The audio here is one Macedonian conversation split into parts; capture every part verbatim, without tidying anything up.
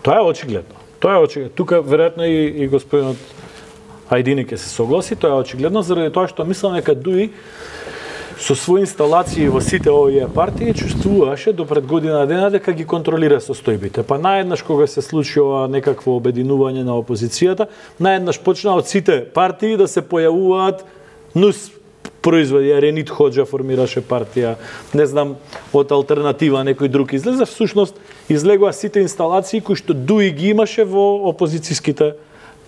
Тоа е очигледно. Тоа е очигледно. Тука веројатно и, и господинот Ајдини ќе се согласи, тоа е очигледно заради тоа што мислам дека Дуи со своји инсталации во сите овие партии чувствуваше до пред година дена дека ги контролира состојбите. Па наеднаш кога се случува некакво обединување на опозицијата, наеднаш почна од сите партии да се појавуваат нус производи. Ренит Хоџа формираше партија, не знам, од алтернатива некој друг излезе, всушност излегоа сите инсталации кои што Дуи ги имаше во опозицијските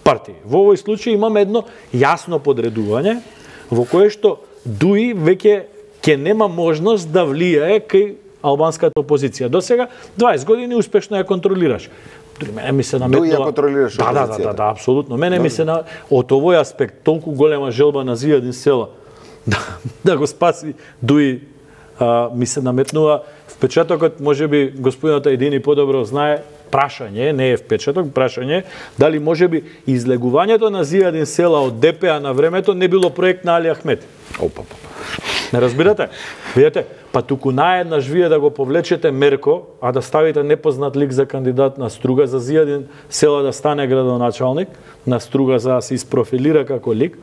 партии. Во овој случај имаме едно јасно подредување во кое што Дуи веќе ќе нема можност да влијае кај албанската опозиција. До сега дваесет години успешно ја контролираш. Мене ми се наметнува... Дуи ја контролираш да, опозицијата. Да, да, да, апсолутно. Мене ми се на од овој аспект толку голема желба на Зијадин Села да, да го спаси Дуи, а, ми се наметнува впечатокот, можеби господинот Ајдини подобро знае, прашање, не е впечаток, прашање, дали можеби излегувањето на Зијадин Села од Д П А на времето не било проект на Али Ахмети. Опа, не разбирате? Видете, па туку наеднаш вие да го повлечете Мерко, а да ставите непознат лик за кандидат на Струга, за Зијадин Села да стане градоначалник, на Струга за да се испрофилира како лик.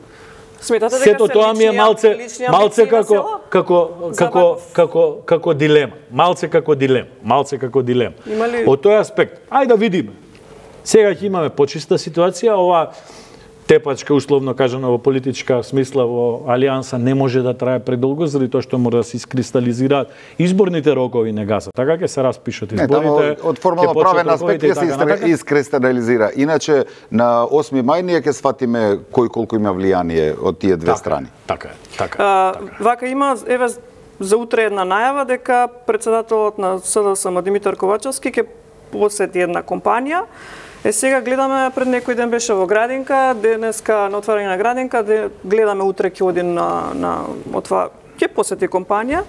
Сметате дека сето се тоа ми е малце малце како како како како како дилема, малце како дилема, малце како дилема. Ли... Од тој аспект, ајде да видиме. Сега ќе имаме почиста ситуација, ова тепачка, условно кажано, во политичка смисла во алијанса не може да трае предолго, заради тоа што мора да се искристализираат изборните рокови не гаса. Така ќе се распишат изборите. Не, од формално правен аспект ќе се искристализира. Иначе на осми мај ние ќе сватиме кој колку има влијание од тие две така, страни. Така е, така. А, така. Вака има еве за утре една најава дека претседателот на С Д С М Димитар Ковачевски ќе посети една компанија. Е, сега гледаме, пред некој ден беше во Градинка, денеска на отварање на Градинка, де, гледаме утре ќе оди на, на отва, ќе посети компанија.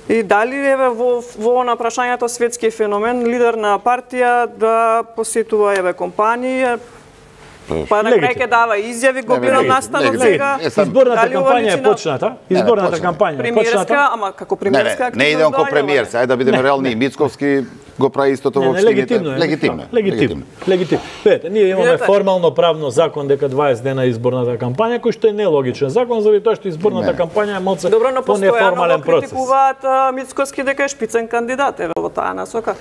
И дали еве во во на прашањето светски феномен, лидер на партија да посетува еве компанија, па на крај ќе дава изјави, го гледам настанот сега. Изборната кампања е почната, изборната кампања е почната. Ама како премиерска активност. Не, не идем ко премиер, ајде да бидеме реални. Мицковски го прави истото во општините. Легитимно е. Легитимно. Легитимно. Легитимно. Видете, ние имаме формално правно закон дека дваесет дена е изборната кампања, кој што е нелогичен закон, заради тоа што изборната кампања е малце понеформален процес. Добро, но критикуваат Мицковски дека е шпицен кандидат, еве во таа насока.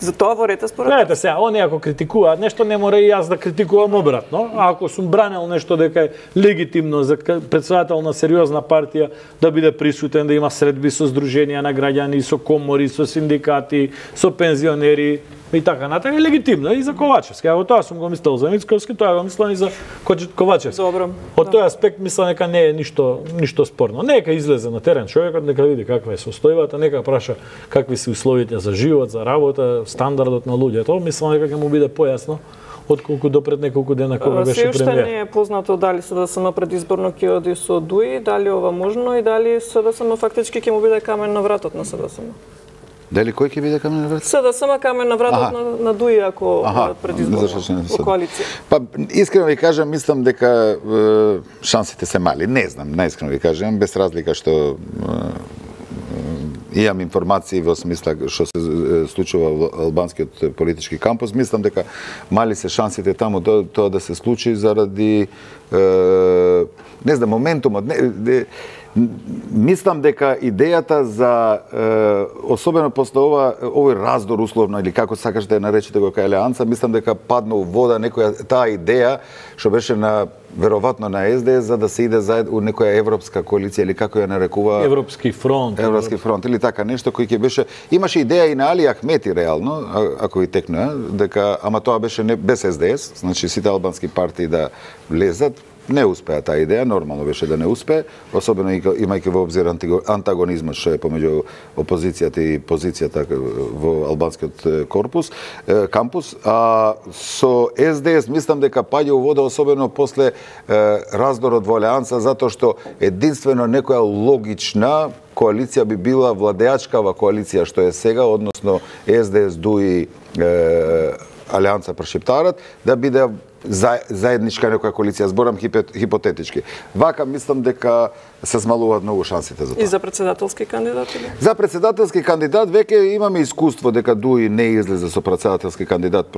За тоа ворете според. Гледате сега, они ако критикуваат нешто, не мора и јас да критикувам обратно. А ако сум бранел нешто дека е легитимно за претседател на сериозна партија да биде присутен, да има средби со здруженија на граѓани, со комори, со синдикати, со пензионери и така натаму, е легитимно и за Ковачевски. Ако тоа сум го мислел за Мицковски, тоа го мислам и за Ковачевски. Добро. Од тој аспект мислам дека не е ништо ништо спорно. Нека излезе на терен човекот, нека види каква е состојбата, нека праша какви се условите за живот, за работа, стандардот на луѓето. Мислам дека ќе му биде појасно отколку до пред неколку дена кога беше премиер. Се уште не е познато дали С Д С М предизборно ќе оди со Дуи, дали ова можно и дали С Д С М фактички ќе му биде камен на вратот на С Д С М. Дали кој ќе биде камен на вратот? С Д С М камен на вратот на, на Дуи ако предизборно во коалиција. Па искрено ви кажам, мислам дека е, шансите се мали. Не знам, најискрено ви кажам, без разлика што е, имам информации во смисла што се случува во албанскиот политички кампус, мислам дека мали се шансите таму тоа, тоа да се случи заради е, не знам, моментумот, не, не, мислам дека идејата за е, особено после ова овој раздор условно или како сакаш да ја наречете го кај Алијанса, мислам дека падна у вода некоја таа идеја што беше на веројатно на С Д С за да се иде заедно у некоја европска коалиција или како ја нарекува Европски фронт. Европски фронт или така нешто кој ќе беше имаше идеја и на Али Ахмети реално, ако и текнува, дека ама тоа беше не без С Д С, значи сите албански партии да влезат. Не успеа таа идеја, нормално беше да не успее, особено имајќи во обзир антагонизмот што е помеѓу опозицијата и позицијата во албанскиот корпус, кампус, а со С Д С мислам дека паѓа у вода особено после раздорот во Алијанса затоа што единствено некоја логична коалиција би била владеачкава коалиција што е сега, односно С Д С, Дуи, Алијанса Прошептарат, да биде заедничка некоја коалиција, зборам хипотетички. Вака мислам дека се змалуваат многу шансите за тоа. И за председателски кандидат? За председателски кандидат веќе имаме искуство дека Дуи не излезе со председателски кандидат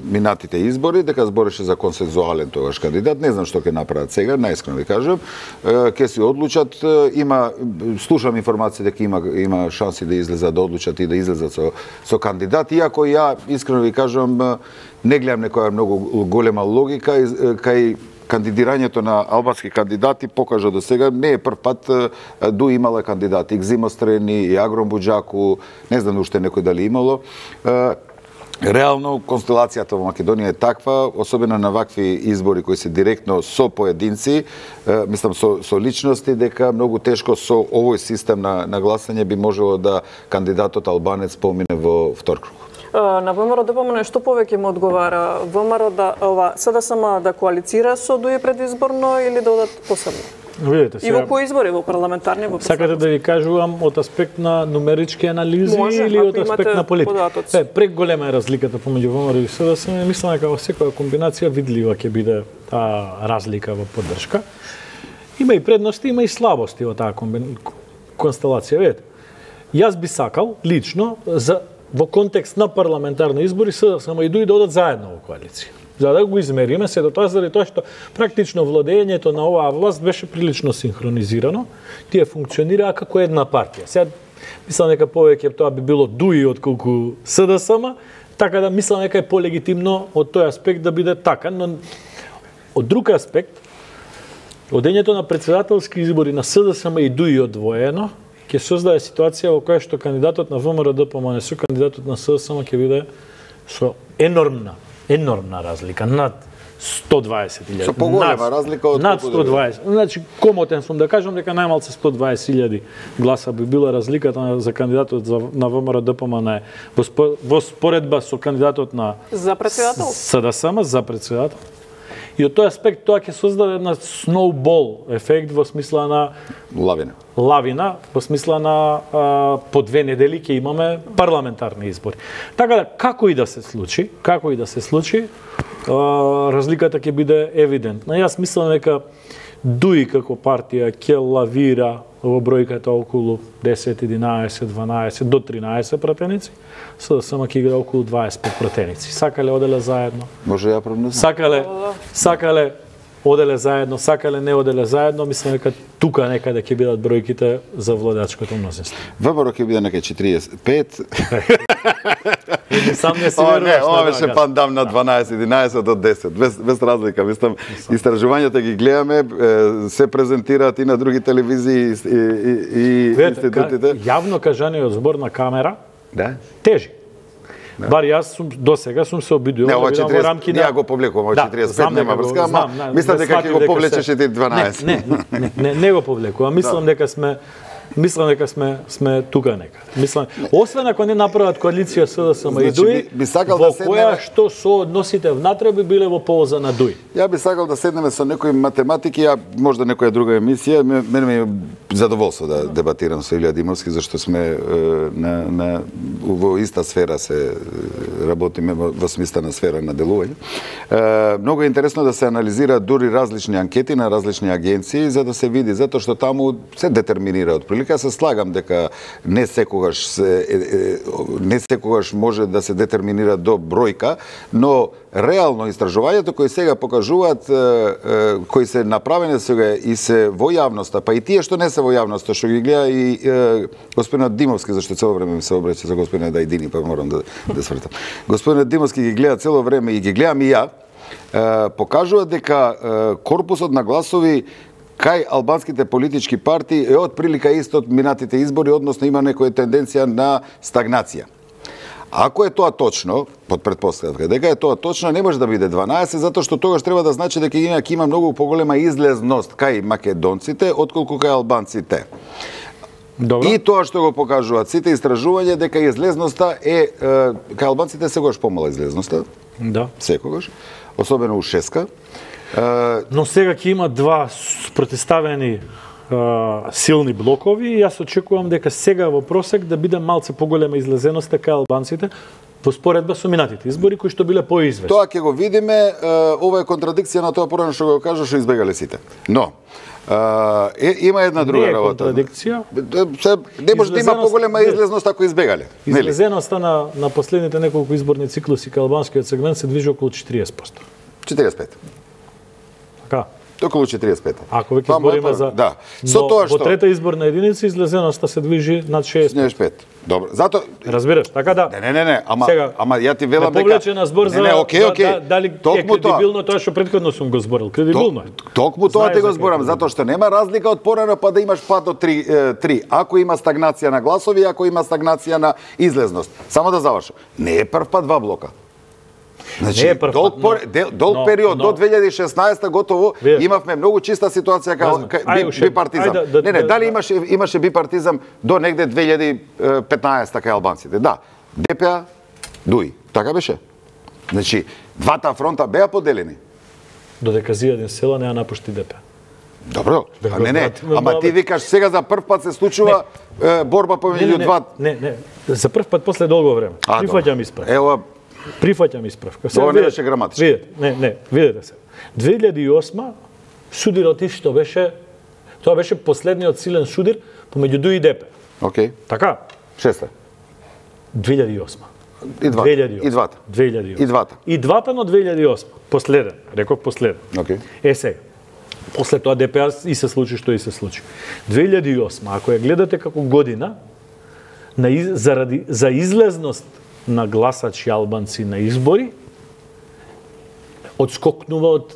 минатите избори, дека збореше за консензуален тогаш кандидат. Не знам што ќе направат сега, наискрено ви кажам. Ќе си одлучат, има слушам информации дека има има шанси да излезат, да одлучат и да излезат со со кандидат, иако ја искрено ви кажам не гледам некоја многу голема логика кај кандидирањето на албански кандидати покажа до сега, не е прв пат Дуи имала кандидати, Зимострени, и Агром Буџаку, не знам уште некој дали имало. Реално констелацијата во Македонија е таква, особено на вакви избори кои се директно со поединци, мислам со, со личности, дека многу тешко со овој систем на, на гласање би можело да кандидатот албанец помине во втор круг. На ВМРО ДПМН што повеќе му одговара? ВМРО да ова СДСМ да коалицира со Дуи предизборно или да одат посебно? Видете, сега... И во кои избори, во парламентарни, во сакате да ви кажувам од аспект на нумерички анализи може, или од аспект на политика? Е, прек голема е разликата помеѓу ВМРО и СДСМ. Мислам дека во секоја комбинација видлива ќе биде таа разлика во поддршка. Има и предности, има и слабости во таа комбин... констелација. Видете, јас би сакал лично за во контекст на парламентарни избори СДСМ и Дуи да одат заедно во коалиција. За да го измериме се до тоа заради тоа што практично владењето на оваа власт беше прилично синхронизирано. Тие функционираа како една партија. Сега мислам дека повеќе тоа би било Дуи отколку СДСМ, така да мислам дека е полегитимно од тој аспект да биде така, но од друг аспект одењето на председателски избори на СДСМ и Дуи одвоено ќе создаде ситуација во која што кандидатот на ВМРО ДПМН со кандидатот на СДСМ ќе биде со енормна, енормна разлика, над сто дваесет илјади. Со поголема разлика од над сто дваесет. Значи, комотен сум да кажам дека најмалце сто дваесет илјади гласа би била разликата за кандидатот за, на ВМРО ДПМН во, спо, во споредба со кандидатот на за председател СДСМ за председател. И од тој аспект тоа ќе создаде една сноубол ефект во смисла на лавина. Лавина, во смисла на а, по две недели ќе имаме парламентарни избори. Така да како и да се случи, како и да се случи, а, разликата ќе биде евидентна. Јас мислам дека Дуи како партија ќе лавира во бројката околу десет, единаесет, дванаесет до тринаесет пратеници, СДСМ ќе игра околу дваесет и пет пратеници. Сакале оделе заедно. Може ја прогнозам. Сакале, сакале оделе заедно, сакале не оделе заедно, мислам дека тука некаде ќе бидат бројките за владачкото мнозинство. ВМРО ќе биде некај четириесет и пет. И сам не си веруваш. Не, ова на беше пандам на дванаесет, единаесет до десет, без без разлика. Мислам, истражувањата ги гледаме, се презентираат и на други телевизии и и, и институтите. Јавно кажаниот збор на камера, да, тежи. Да. Бар јас сум до сега сум се обидувал да видам во рамки на... Не, го повлекувам, да, четириесет и пет нема врска, ама мислам дека ќе го повлечеш и ти дванаесет. Не, не, не, не, не го повлекувам. Мислам дека сме Мислам дека сме сме тука некаде. Мислам, освен ако не направат коалиција СДСМ и Дуи, би, би сакал во да седнеме... која што соодносите внатре би биле во полза на Дуи. Ја би сакал да седнеме со некои математики, ја можда некоја друга емисија, мене ми е задоволство да дебатирам со Илија Димовски, зашто сме на, на во иста сфера се работиме во, во смислена сфера на делување. Многу е интересно да се анализираат дури различни анкети на различни агенции за да се види, затоа што таму се детерминира од прилика. Се слагам дека не секогаш се, е, е, не секогаш може да се детерминира до бројка, но реално истражувањето кои сега покажуваат, е, е, кои се направени сега и се во јавноста, па и тие што не се во јавноста, што ги гледа и е, господинот Димовски, зашто цело време ми се обраќа за господинот Дајдини, па морам да, да свртам. Господинот Димовски ги гледа цело време и ги гледам и ја, е, покажуваат дека е, корпусот на гласови кај албанските политички партии е од прилика исто од минатите избори, односно има некоја тенденција на стагнација. Ако е тоа точно, под претпоставка дека е тоа точно, не може да биде дванаесет, затоа што тогаш треба да значи дека има, има многу поголема излезност кај македонците, отколку кај албанците. Добро. И тоа што го покажуваат сите истражувања, дека излезноста е, е кај албанците секогаш помала излезноста. Да. Секогаш. Особено у Шеска. Но сега ќе има два протиставени uh, силни блокови и јас очекувам дека сега во просек да биде малце поголема излезеноста кај албанците, во споредба со минатите избори кои што биле поизвестни. Тоа ќе го видиме, ова е контрадикција на тоа порано што го кажа, што избегале сите. Но е, има една друга не е работа. Контрадикција. Се, не може да има поголема излезност ако избегале. Излезеноста на, на последните неколку изборни циклуси кај албанскиот сегмент се движи околу четириесет проценти. четириесет и пет. Така. Околу четириесет и пет. Ако веќе збориме за... Да. Со тоа што... Во трета изборна единица излезеноста се движи над шеесет и пет. Добро. Зато разбираш, така да. Не, не, не, не, ама Сега, ама ја ти велам дека повлече на збор за не, не, окей, окей. Да, дали е кредибилно тоа што претходно сум го зборил. Кредибилно е. Токму тоа ти го зборам, затоа што нема разлика од порано па да имаш пад од три. Ако има стагнација на гласови, ако има стагнација на излезност. Само да завршам. Не е прв пат два блока. Значи, не е долг, но, пор, дел, долг но, период но, до две илјади и шеснаесета готово вие, имавме многу чиста ситуација кај би, бипартизам. Да, да, не, не, дали имаше имаше бипартизам до негде две илјади и петнаесета кај албанците? Да. ДПА, ДУИ. Така беше. Значи, двата фронта беа поделени. Додека Зијадин Села не ја напушти ДПА. Добро, а не, не, ама ти викаш сега за прв пат се случува не, борба помеѓу два... Не, не, за прв пат после долго време. Прифаќам исправ. Ева, Прифаќам исправка. Тоа не беше граматично. Видете, не, не, видете се. две илјади и осма судирот исто беше, тоа беше последниот силен судир помеѓу ДУИ и ДП. Океј. Така? Шеста. две илјади и осма. И двата. И двата. две илјади и осма. И двата. И двата, но две илјади и осма. Последен, реков последен. Океј. Е сега. После тоа ДПА и се случи што и се случи. две илјади и осма, ако ја гледате како година, на из, заради за излезност на гласачи албанци на избори, одскокнува од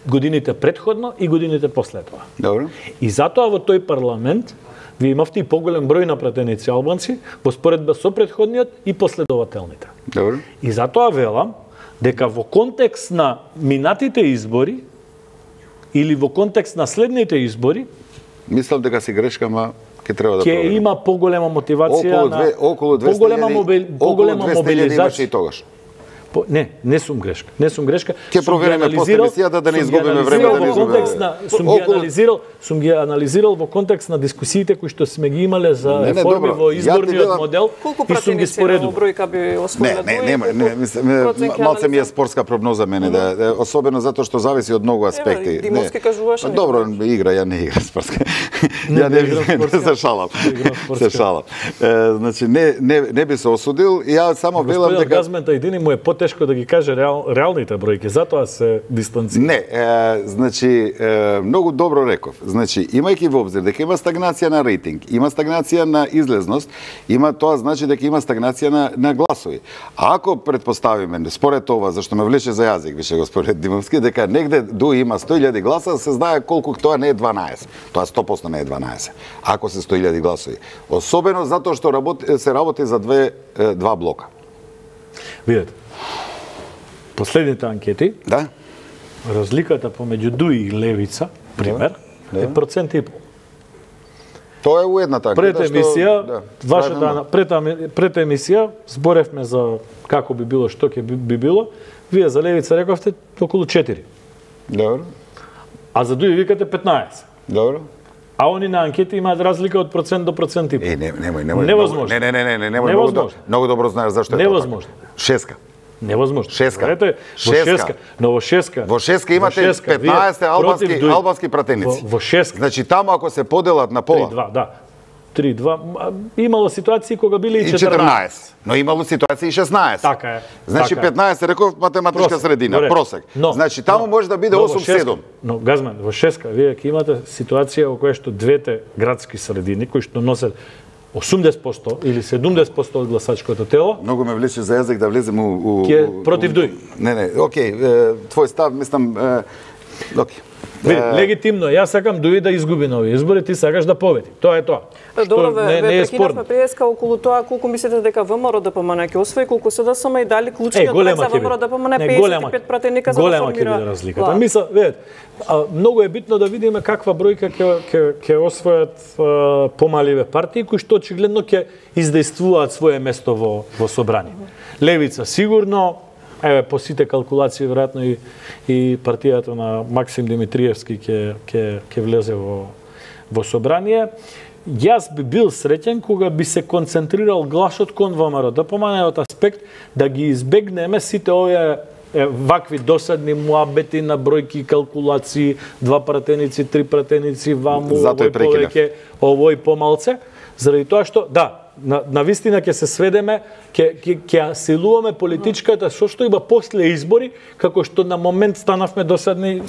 годините предходно и годините после тоа. Добро. И затоа во тој парламент вие имавте и поголем број на пратеници албанци во споредба со предходниот и последователните. Добро. И затоа велам дека во контекст на минатите избори или во контекст на следните избори, мислам дека си грешка, ма ќе треба да ќе има поголема мотивација околу две, на околу двеста поголема мобили, поголема мобилизација и тогаш. По, не, не сум грешка. Не сум грешка. Ќе провериме после емисијата да не изгубиме време, да не изгубиме. Сум ги анализирал, сум ги анализирал во контекст на дискусиите кои што сме ги имале за не, не, реформи добро. во изборниот модел и сум ги споредил. Бројка би освоила. Не, не, нема, не, мислам, малце ми е спортска прогноза мене, да, особено затоа што зависи од многу аспекти. Димовски кажуваше. Добро, игра, ја не игра спортска. Ја не играм, се шалам. Се шалам. Значи не не не би се осудил, ја само велам дека Газмента едини му е потешко да ги каже реал, реалните бројки, затоа се дистанцира. Не, е, значи е, многу добро реков. Значи имајќи во обзир дека има стагнација на рейтинг, има стагнација на излезност, има тоа значи дека има стагнација на на гласови. А ако предпоставиме според ова, зашто ме влече за јазик, више господин Димовски, дека негде ДУИ има сто илјади гласа, се знае колку тоа не е дванаесет. Тоа сто проценти не е дванаесет. Ако се сто илјади гласови. Особено затоа што работи, се работи за две два блока. Видете. Последните анкети, да, разликата помеѓу ДУИ и Левица, пример, да, е процент и пол. Тоа е уедната анкета. Пред емисија, што, да, вашата пред, пред емисија зборевме за како би било, што ќе би, би било. Вие за Левица рековте околу четири. Добро. А за ДУИ викате петнаесет. Добро. А они на анкети имаат разлика од процент до процент и пол. Е, не, немој, немој. Невозможно. Не, не, не, не, не, немој. Многу, многу добро знаеш зашто е тоа. Невозможно. Шеска. Невозможно. Шеска. Знаете, во шеска. Но во шеска. Во шеска имате петнаесет албански албански пратеници. Во, во шеска. Значи таму ако се поделат на пола. три два, да. три два. Имало ситуации кога били и четрнаесет. Но имало ситуации и шеснаесет. Така е. Значи така петнаесет реков математичка просек, средина, добре. просек. Но, значи таму но, може да биде осум седум. Но Газман, во шеска вие ќе имате ситуација во која што двете градски средини кои што носат осумдесет проценти или седумдесет проценти од гласачкото тело. Многу ме влече за јазик да влезем у, у Ке против ДУИ. Не, не, окей, твој став, мислам, окей. Види, легитимно, јас сакам ДУИ да изгуби на овие избори, ти сакаш да победи. Тоа е тоа. Добро, ве, ве прекинавме преска околу тоа колку мислите дека ВМРО ДПМН ќе освои, колку се да сама и дали клучниот проект за ВМРО ДПМН петдесет и пет пратеника за да формира. Голема ќе биде разликата. Мисла, видете, многу е битно да видиме каква бројка ќе ќе ќе освојат помаливе партии кои што очигледно ќе издействуваат свое место во во собрание. Левица сигурно, еве по сите калкулации веројатно и и партијата на Максим Димитриевски ќе ќе ќе влезе во во собрание. Јас би бил среќен кога би се концентрирал гласот кон ВМРО д п м н од аспект да ги избегнеме сите овие е, вакви досадни муабети на бројки, калкулации, два пратеници, три пратеници, ваму, овој повеќе, овој помалце, заради тоа што, да, на, на вистина ќе се сведеме, ќе ќе ќе силуваме политичката со што има после избори, како што на момент станавме досадни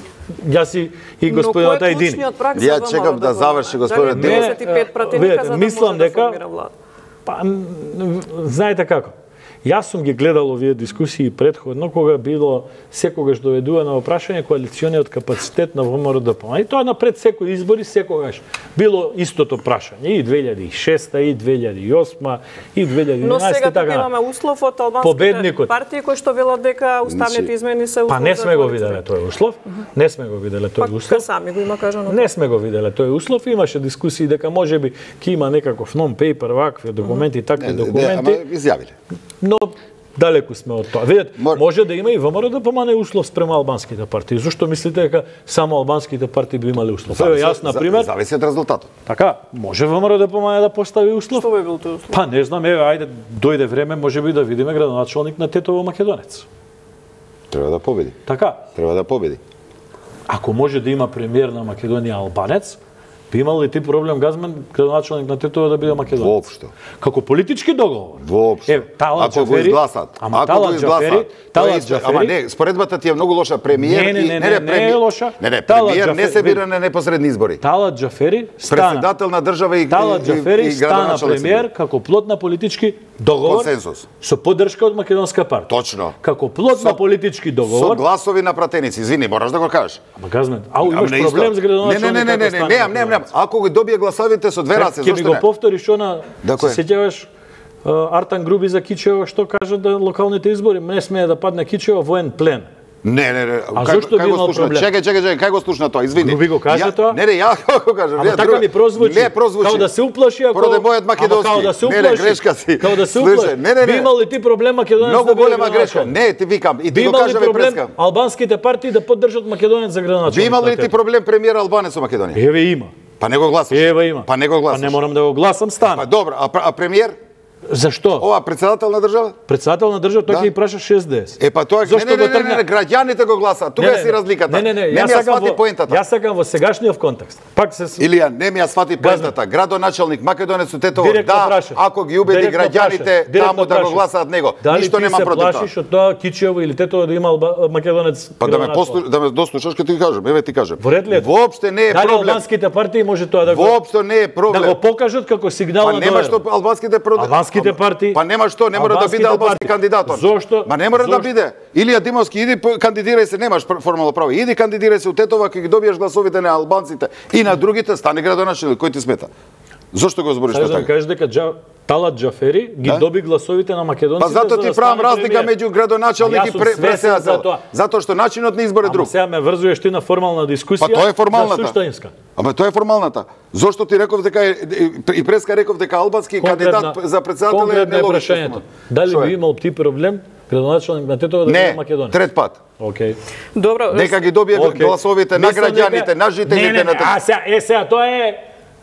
јас и, и господинот Ајдини. Ја чекам да заврши господинот Димов. дваесет и пет пратеника за да мислам може да дека формира влада. па знаете како. Јас сум ги гледал овие дискусии претходно, кога било секогаш доведувано во прашање коалициониот капацитет на ВМРО д п м. И тоа напред секој избори секогаш било истото прашање. И две илјади и шеста, и две илјади и осма, и две илјади и единаесета. Но сега така. имаме услов од албанските партии кои што велат дека уставните измени се услов. Па не сме го виделе тој услов. Не сме го виделе тој услов. Па сами го има кажано. Не сме го виделе тој услов. Имаше дискусии дека можеби ќе има некаков non-paper, вакви документи, такви документи. Ама изјавиле. Но далеку сме од тоа. Видете, може да има и ВМРО да помане услов спрема албанските партии. Зошто мислите дека само албанските партии би имале услов? Еве јас на пример, зависи од резултатот. Така, може ВМРО да помане да постави услов? Што би бил тој услов? Па не знам, еве ајде дојде време, можеби да видиме градоначалник на Тетово Македонец. Треба да победи. Така. Треба да победи. Ако може да има премиер на Македонија албанец, би имал ли ти проблем Газмен, градоначалник на Тетово да биде македонец? Воопшто. Како политички договор? Воопшто. Е, Талат Ако го изгласат. Ама Ако Талат го изгласат. Джафери, Талат Ама Джафери. не, споредбата ти е многу лоша. Премиер Не, не, и не, не, не е лоша. Не, не, Талат премиер не Джафери- се бира на непосредни избори. Талат Джафери стана Председател на држава и Талат и- Джафери и стана градоначалник се премиер бира. како плод на политички договор Консенсус. со поддршка од македонска партија. Точно. Како плод на политички Со договор. гласови на пратеници. Извини, мораш да го кажеш. Ама Газмен, ау имаш Ама не проблем исто. с градоначалник. Не, не, не, не, не, немам, немам, немам. Ако го добие гласовите со две раце, Ќе ми зошто го не? повториш она, Да, се кој? сеќаваш а, Артан Груби за Кичево што кажа да локалните избори не смее да падне Кичево воен плен. Не, не, не. А Кај- зошто кај би го имал слушна? проблем? Чекај, чекај, чекај, кај го слушна тоа? Извини. Груби го кажа Ја- тоа? Не, не, ја го кажам. Ама Ја така друг- ми прозвучи. Не прозвучи. Као да се уплаши ако Поради мојот македонски. Ама као да се Не, не, уплаши. грешка си. Као да се Слушај, уплаши. не, не, Би не. имал ли ти проблем Македонец Многу да биде голема грешка. градоначалник? Не, ти викам и Би ти го имал ли кажам и проблем прескам. албанските партии да поддржат Македонец за градоначалник? Би имал ли на ти тебе? проблем премиер албанец во Македонија? Еве има. Па не го гласаш. Еве има. Па не го гласаш. Па не морам да го гласам, стана. Па добро, а, пр- а премиер? Зашто? Ова председател на држава? Председател на држава, тој Да. ќе ги праша шест десет. Е па тоа не, Зошто не, го не, не, тргна? не, граѓаните го гласаат. Тука е си разликата. Не, не, не, не јас ми ја сакам свати во- поентата. Јас сакам во сегашниот контекст. Пак се Илија, не ми ја свати поентата. Градоначалник Македонец од Тетово, Директно да, прашам. ако ги убеди Директно граѓаните прашам. Директно таму да го прашам. гласаат него, Дали ништо ти немам се против тоа. плашиш од тоа Кичево или Тетово да има алба- македонец? Па да ме градоначалник? послу, да ме дослушаш ќе ти кажам, еве ти кажам. Во ред ли е тоа? Воопште не е Дали проблем. албанските партии може тоа да го Воопшто не е да проблем. го покажат како сигнал Па на нема доверба? што албанските проде... Албанските партии- Па нема што, не мора да Албанските биде албански партии. кандидатор. Зошто? Ма не мора да Зошто? биде. Илија Димовски, иди по- кандидирај се, немаш пр- формално право. Иди кандидирај се у Тетово, ако ги добиеш гласовите на албанците и на другите, стане градоначалник, кој ти смета? Зошто го збориш Сакаш да ми така? кажеш дека Джа... Талат Джафери ги Да? доби гласовите на македонците. Па зато за ти да правам стане разлика премиер. меѓу градоначалник Јас и сум пре- свесен за председател. тоа. Затоа што начинот на избор е Ама друг. сега ме врзуваш ти на формална дискусија. Па тоа е формалната. За суштинска. Ама тоа е формалната. Зошто ти реков дека е, и преска реков дека албански кандидат за председател е конкретно нелогично. прашањето. Дали Што е? би имал ти проблем градоначалник на Тетово да биде Не, македонец? трет пат. Океј. Добро, Нека ги добие Океј. гласовите на Мислам граѓаните, дека- на жителите Не, не, на не, а сега, е сега тоа е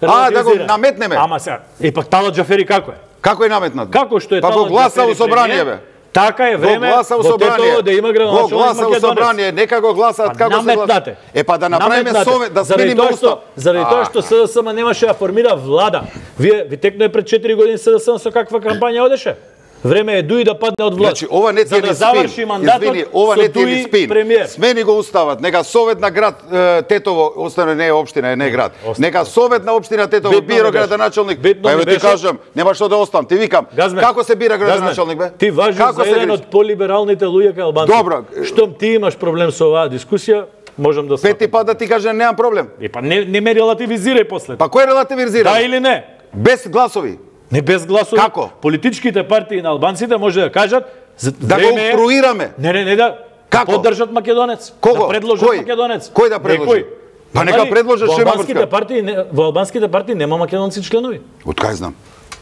А, да го релативизирано. наметнеме. Ама сега, и пак Талат Джафери како е? Како е наметнат? Како што е Па го Талат гласа Джафери у собрание премиер, бе. Така е Го време гласа у во Тетово собрание. да има Го градоначалник гласа у македонец. собрание, нека го гласаат Па како се гласа. наметнате. Е па да направиме Наметнате. совет, да Заради смениме тоа што- устав. Заради тоа што СДСМ немаше да формира влада. Вие ви текно е пред четири години СДСМ со каква кампања одеше? Време е Дуи да падне од власт. Значи, ова не ти за е да ни заврши спин. мандатот Извини, ова со не ти е ни Дуи спин. премиер. Смени го уставот. Нека совет на град е, Тетово, остане не е општина, е не е град. Остане. Нека совет на општина Тетово Битно бира ми беше. градоначалник. Битно Па ми еве ти беше. кажам, нема што да оставам. Ти викам, Газмен, како се бира градоначалник бе? Газмен, Ти важиш Како за се еден грижи? од полибералните луѓе кај албанците. Добро. Штом ти имаш проблем со оваа дискусија, можам да Пети пат да ти кажам, немам проблем. И па не, не ме релативизирај после. Па кој релативизира? Да или не? Без гласови. Не без гласови. Како? Политичките партии на албанците може да кажат за Да го време е- обструираме. Не, не, не да. Како? Поддржат македонец. Кого? Да предложат Кој? македонец. Кој да предложи? Некој. Па нека Нема ли? предложат Во Шема албанските Врска. партии не- во албанските партии нема македонци членови. Од кај знам?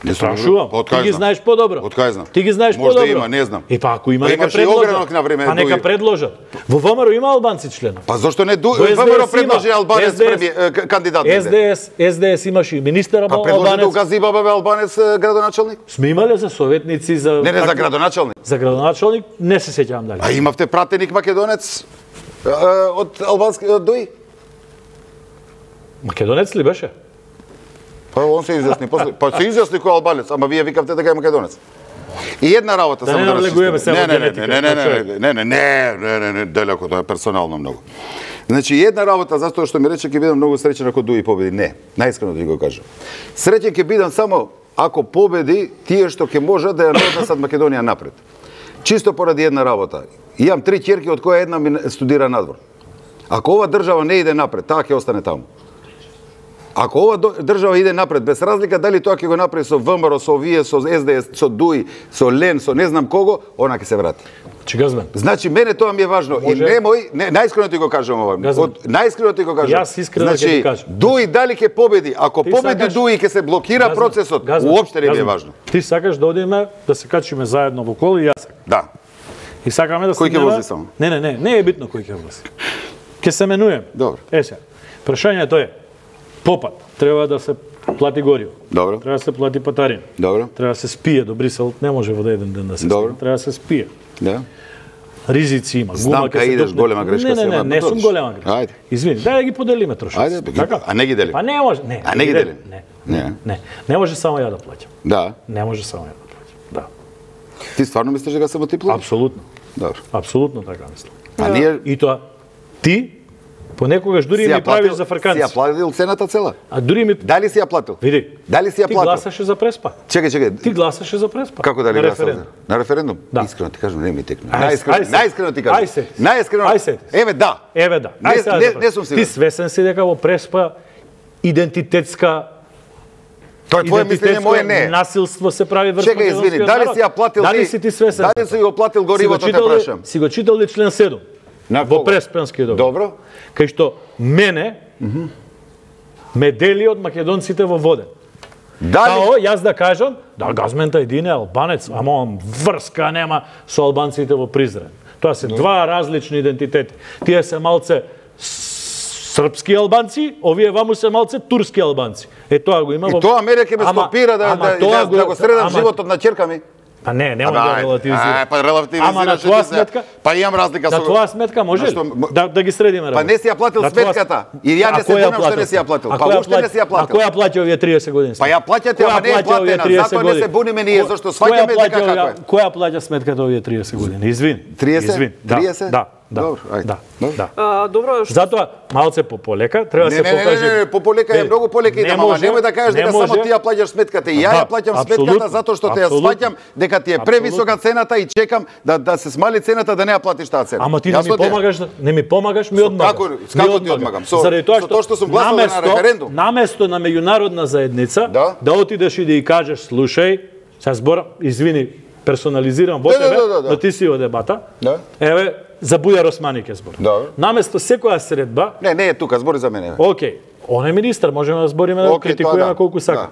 Не сум Прашувам. Од Ти кај ги знам? знаеш подобро. Од кај знам? Ти ги знаеш Може да подобро. има, не знам. И па ако има Па нека имаше и огранок на време, предложат. Па нека Дуи. предложат. Во ВМРО има албанци членови. Па зошто не Ду... Во ес де ес ВМРО има. предложи албанец ес де ес. преми- е, к- кандидат? ес де ес, ес де ес имаше и министер Па предложи да албанец. угази баба бе албанец е, градоначалник? Сме имале за советници за Не, не, за како- градоначалник. За градоначалник не се сеќавам дали. А имавте пратеник македонец е, од албански од Дуи? Македонец ли беше? Па он се изјасни после. Па се изјасни кој е албанец, ама вие викавте дека е македонец. И една работа Да само не да навлегуваме расчистиме. сега Не, во не, не, генетика, не, не, на човек. не, не, не, не, не, не, не, далеко, тоа е персонално многу. Значи, една работа, затоа што ми рече, ќе бидам многу среќен ако Дуи победи. Не, наискрено да ви го кажам. Среќен ќе бидам само ако победи тие што ќе можат да ја однесат Македонија напред. Чисто поради една работа. Имам три ќерки од која една ми студира надвор. Ако ова држава не иде напред, таа ќе остане таму. Ако ова држава иде напред, без разлика дали тоа ќе го направи со ВМРО, со овие, со ес де ес, со Дуи, со Лен, со не знам кого, она ќе се врати. Че газмен. Значи, мене тоа ми е важно. Може... И немој, не, најискрено ти го кажам ова. Газмен. Од, најискрено ти го кажам. Јас искрено ќе значи, ти кажам. Дуи дали ќе победи? Ако Ти победи сакаш- Дуи, ќе се блокира Газмен, процесот. газмен, Уопште не ми е газмен. важно. Ти сакаш да одиме да се качиме заедно во кола и јас сакам. Да. И сакаме да се Кој ќе вози само? Не, не, не, не е битно кој ќе вози. Ќе се менуеме. Добро. Е сега. Прашањето е попат треба да се плати гориво. Добро. Треба да се плати патарина. Добро. Треба да се спие до Брисел, не може во еден ден да се Добро. спие. Треба да се спие. Да. Ризици има. Знам Гума ќе кај се идеш, дупне. голема грешка Не, се не, не, има, не па сум добро. голема грешка. Ајде. Извини, дај да ги поделиме трошки. Ајде, бе, така? а не ги делим. Па не може, не. А не ги делим? Не. Не. Не. Не може само ја да плаќам. Да. Не може само ја да плаќам. Да. Ти стварно мислиш дека само ти плати? Апсолутно. Добро. Апсолутно така мислам. А ние И тоа ти понекогаш дури си ми ја правиш платил, за си фрканци. ја платил цената цела? А дури ми Дали си ја платил? види. Дали си ја Ти платил? гласаше за Преспа. Чекај, чекај. Ти гласаше за Преспа. Како дали на гласал? референдум. На референдум? Да. Искрено ти кажам, не ми текна. Ај, Најискрено, ај се. најискрено ти кажам. Ај се. Најискрено. Ај се. Еве да. Еве да. Не- Ај сега не- за Преспа. не сум сигурен. Ти свесен си дека во Преспа идентитетска Тоа е твое мислење, моје не. насилство се прави врз Чекај, извини, македонскиот дали народ? си ја платил Дали ти? си ти свесен? Дали си го платил горивото, Си те го читал ли- прашам? Си го читал ли член седум? На Во кого? Преспанскиот договор. Добро. Кај што мене ме дели од македонците во Воден. Дали Као, јас да кажам, да, Газмента един е албанец, ама он врска нема со албанците во Призрен. Тоа се два различни идентитети. Тие се малце с- српски албанци, овие ваму се малце турски албанци. Е тоа го има и во... тоа мене ќе ме Ама- стопира да ама да, тоа да, да го средам ама- животот на ќерка ми. Па не, нема Абе, да ајде, релативизирам. ај, па релативизираш Ама на ти твоја се. сметка, Па имам разлика на со твоја сметка може ли? Зашто м- Да, да ги средиме Па не си ја платил На твоја- сметката. И ја не А се кој ја бунам што не си ја платил. А Па кој ја уште не си ја плати- платил. А кој ја плати овие триесет години? Па ја плаќате, Кој ама не е ја плати овие платена, триесет затоа не се години? буниме ние, Кој- зашто кој ја сваќаме плати дека како овие- е. Кој ја плаќа сметката овие триесет години? Извини. триесет? Извини. Да, триесет? Да, да. Добро, ајде. Да, Добро. да. А, добро, што Затоа малце по полека треба да Не, се не, не, покаже. не, не, по полека е Е, многу полека не идам, ама може, немој да кажеш не дека само може. ти ја плаќаш сметката. И ја Да, ја плаќам апсолутно, сметката затоа што те ја апсолутно. сваќам дека ти е превисока цената и чекам да да се смали цената да не ја платиш таа цена. Ама ти не ми Јасно ти е? помагаш, да- не ми помагаш, ми Со одмагаш. како- Ми како ти одмагаш. одмагам? Со- Заради тоа со тоа што сум гласал на наместо- референдум? Наместо на меѓународна заедница Да. да отидеш и да ја кажеш, слушај, сега збора, извини, персонализирам во Да, да, тебе, да, да, да. но ти си во дебата. Да. Еве, за Бујар Османи ке збор. Добро. Наместо секоја средба, Не, не е тука, збори за мене. бе. окей, он е министар, можеме да збориме да Окей, критикуваме тоа да. колку сака. Да.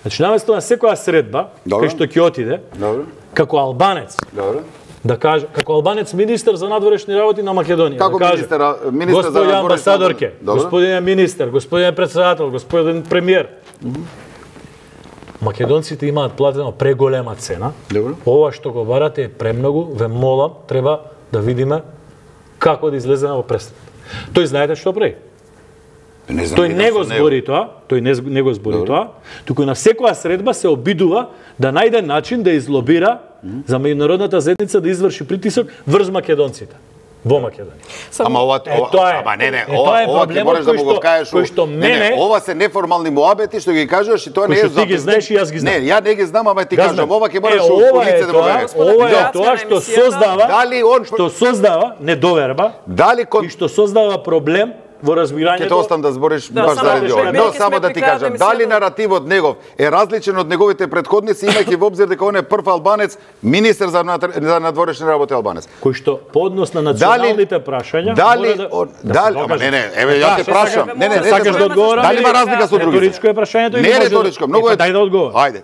Значи, наместо на секоја средба, Добро. кај што ќе отиде, Добро. како албанец, Добро. да каже, како албанец министер за надворешни работи на Македонија. Како да каже, министер, а, министер за господине надворешни амбасадорке, работи. Добро. господине министер, господине председател, господин премиер. Македонците имаат платено преголема цена. Добро. Ова што го барате е премногу, ве молам, треба да видиме како да излеземе во престран. Тој знаете што прави? Не знам, Тој видам не го со него. збори тоа, тој не, не го збори Добро. тоа, туку на секоја средба се обидува да најде начин да излобира за меѓународната заедница да изврши притисок врз македонците во Македонија. Ама ова, Е, ова, тоа е. ама не, не, Е, ова, тоа е ова ќе проблемот можеш да кој му го што- кажеш. кој што не, не, мене- ова се неформални муабети што ги кажуваш и тоа не Кој е што ти ги знаеш и јас ги знам. Не, ја не ги знам, ама ти Газмен, кажам, ова ќе е, мораш у ова е лице да му тоа- кажеш. Ова е Да. тоа што Емисијата. создава, Дали он што создава недоверба дали кон и што создава проблем во Ќе разбирањето. те оставам да збориш Да, баш само заради да ова. кажем, Но ќе само сме да ти при крајот кажам, на дали емисијата. наративот негов е различен од неговите претходници, имајќи во обзир дека он е прв албанец, министер за надр- за надворешни работи албанец. кој што по однос на националните прашања Дали мора да, он- да се дали, ама докаже. не, не, еве ја те Што прашам. сакаш? Не, не, не, Сакаш не, да одговорам? Дали има разлика со другите? Реторичко е прашањето или Не е може да- реторичко, многу Е, е. па дај да одговорам. Ајде.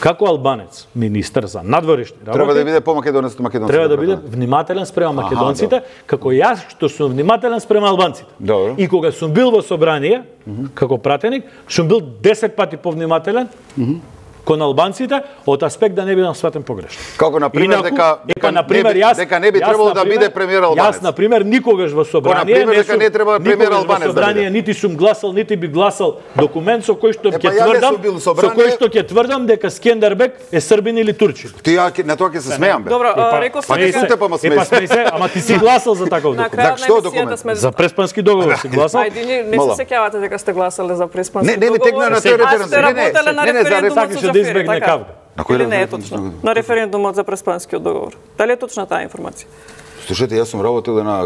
како албанец, министер за надворешни работи, Треба да биде по-македонец од македонците. Треба да биде внимателен спрема македонците, Аха, како јас што сум внимателен спрема албанците. Добро. И кога сум бил во собрание, mm -hmm. како пратеник, сум бил десет пати повнимателен mm -hmm. кон албанците од аспект да не бидам сватен погрешно. Како на пример Инаку, дека дека дека на пример јас дека не би јас, требало да например, биде премиер албанец. Јас на пример никогаш во собрание пример, дека не треба премиер никогаш албанец во да собрание биде. нити сум гласал, нити би гласал документ со кој што Е, ќе па ја не тврдам, сум бил во со собрание. кој што ќе тврдам дека Скендербек е србин или турчин. Ти ја на тоа ќе се смеам бе. Добро, Па, реков па сум ти дека сум те па ма Е, смеј па смеј се, ама ти си гласал за таков на документ. крајот За што на емисијата документ? сме За преспански договор си гласал. Ајде, не, не Мала. се сеќавате дека сте гласале за преспански Не, не ми договор. текна на А тој референдум. сте Не, не, работеле на не, не, за референдумот сакаше со да Џафери, избегне така? кавга. На кој Или не е референдум? точно? На референдумот за преспанскиот договор. Дали е точна таа информација? Слушайте, јас сум работел и на,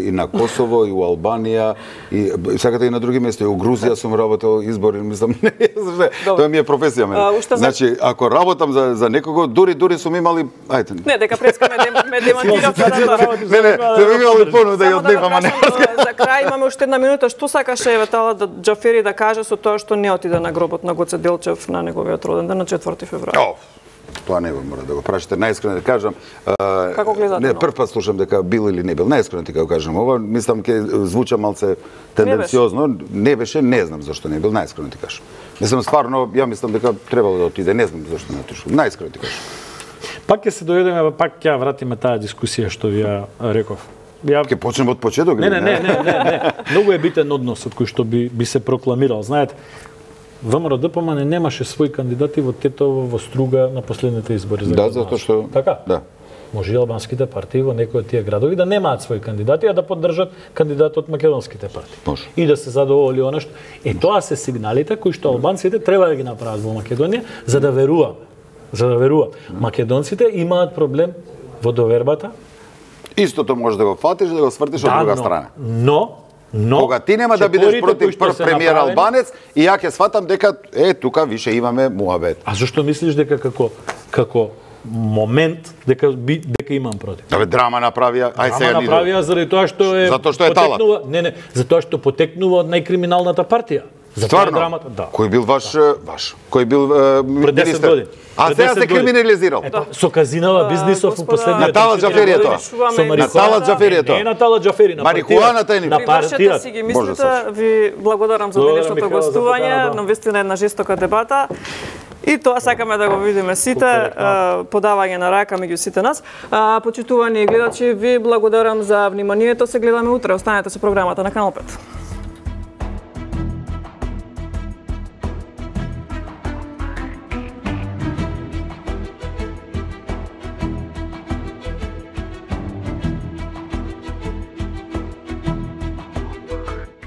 и на Косово, и у Албанија, и сакате и на други места, и у Грузија сум работел избори, мислам, не, зашто, тоа ми е професија мене. А, уште за- Значи, ако работам за, за некого, дури, дури сум имали, ајде. Не, дека преска ме, дем- ме демантиравте на тоа. Не, не, сум имали понуда да ја Само да го однефам, а не. кажам, за крај имаме уште една минута. Што сакаше Еветала да Џафери да каже со тоа што не отиде на гробот на Гоце Делчев на неговиот роден ден на четврти февруари? О, тоа не го мора да го прашате. Најискрено да кажам, а, Како гледате не на прв пат слушам дека бил или не бил. Најискрено ти го кажам ова, мислам ќе звуча малце тенденциозно, не беше, не знам зашто не бил, најискрено ти кажам. Мислам стварно, ја мислам дека требало да отиде, не знам зашто не отишол. Најискрено ти кажам. Пак ќе се дојдеме, пак ќе ја вратиме таа дискусија што ви ја реков. Ја Ќе почнеме од почеток. Не, не, не, не, не, не. Многу е битен односот кој што би би се прокламирал. Знаете, ВМРО ДПМН немаше своји кандидати во Тетово, во Струга на последните избори за Да, градоначелник. затоа што Така? Да. Може и албанските партии во некои од тие градови да немаат своји кандидати, а да поддржат кандидат од македонските партии. Може. И да се задоволи она што е тоа се сигналите кои што албанците треба да ги направат во Македонија за да веруваат. За да веруваат. Македонците имаат проблем во довербата. Истото може да го фатиш, да го свртиш од друга но, страна. Но, но Кога ти нема да бидеш чекорите кои против што прв се премиер направени- албанец и ја ќе сватам дека е тука више имаме муабет. А зашто мислиш дека како како момент дека би, дека имам против? Абе драма направија, ај Ама сега ни. направија заради тоа што е Затоа што е талат. потекнува- Не, не, затоа што потекнува од најкриминалната партија. Затоа е Стварно? драмата, да. Кој бил ваш ваш? Кој бил е, Пред десет министер? години. А Пред сега десет се години. криминализирал. Ето, со казинава бизнисов у господа, последните Натала четири Џафери е години. тоа. Со Натала марихуана. Џафери е тоа. Не е Натала Џафери, на Марихуаната е партијата. ни- На Ви вршете партијата. си ги Може да мислите, ви благодарам за Благодарам, денешното Михаела, за гостување, поканата. навистина една жестока дебата. И тоа сакаме да го видиме сите, Супер, е, подавање на рака меѓу сите нас. А, почитувани гледачи, ви благодарам за вниманието, се гледаме утре, останете со програмата на Канал пет.